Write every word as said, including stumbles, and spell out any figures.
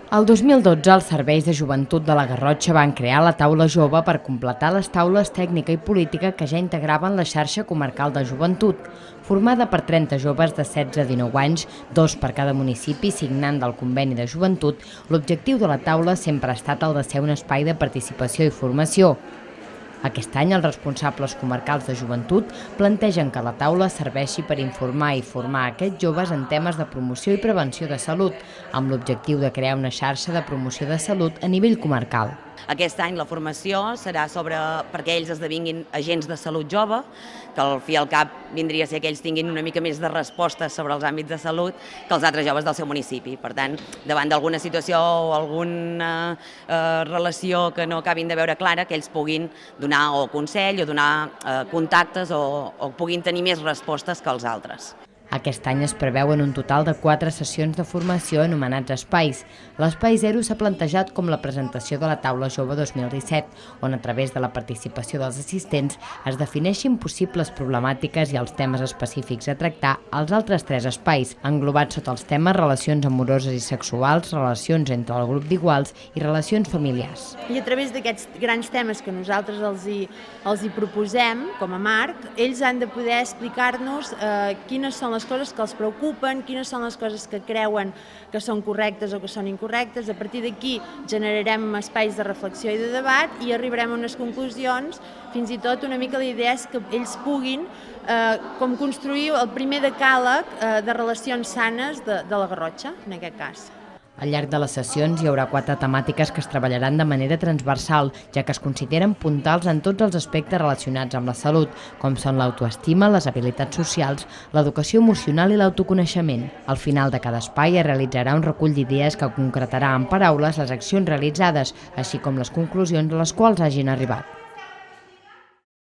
El dos mil dotze, els serveis de joventut de la Garrotxa van crear la Taula Jove per completar les taules tècnica i política que ja integraven la xarxa comarcal de joventut, formada per trenta joves de setze a dinou anys, dos per cada municipi signant del conveni de joventut. L'objectiu de la taula sempre ha estat el de ser un espai de participació i formació. Aquest any, els responsables comarcals de joventut plantegen que la taula serveixi per informar i formar aquests joves en temes de promoció i prevenció de salut, amb l'objectiu de crear una xarxa de promoció de salut a nivell comarcal. Aquest any la formació serà sobre perquè ells esdevinguin agents de salut jove, que al fi i al cap vindria a ser que ells tinguin una mica més de respostes sobre els àmbits de salut que els altres joves del seu municipi. Per tant, davant d'alguna situació o alguna eh, relació que no acabin de veure clara, que ells puguin donar o consell o donar eh, contactes o, o puguin tenir més respostes que els altres. Aquest any es preveuen un total de quatre sessions de formació anomenats espais. L'espai zero s'ha plantejat com la presentació de la Taula Jove dos mil disset, on a través de la participació dels assistents es defineixin possibles problemàtiques i els temes específics a tractar als altres tres espais, englobats sota els temes relacions amoroses i sexuals, relacions entre el grup d'iguals i relacions familiars. I a través d'aquests grans temes que nosaltres els hi, els hi proposem com a marc, ells han de poder explicar-nos eh, quines són les les coses que els preocupen, quines són les coses que creuen que són correctes o que són incorrectes. A partir d'aquí generarem espais de reflexió i de debat i arribarem a unes conclusions. Fins i tot una mica la idea és que ells puguin eh, com construir el primer decàleg eh, de relacions sanes de, de la Garrotxa, en aquest cas. Al llarg de les sessions hi haurà quatre temàtiques que es treballaran de manera transversal, ja que es consideren puntals en tots els aspectes relacionats amb la salut, com són l'autoestima, les habilitats socials, l'educació emocional i l'autoconeixement. Al final de cada espai es realitzarà un recull d'idees que concretarà en paraules les accions realitzades, així com les conclusions a les quals hagin arribat.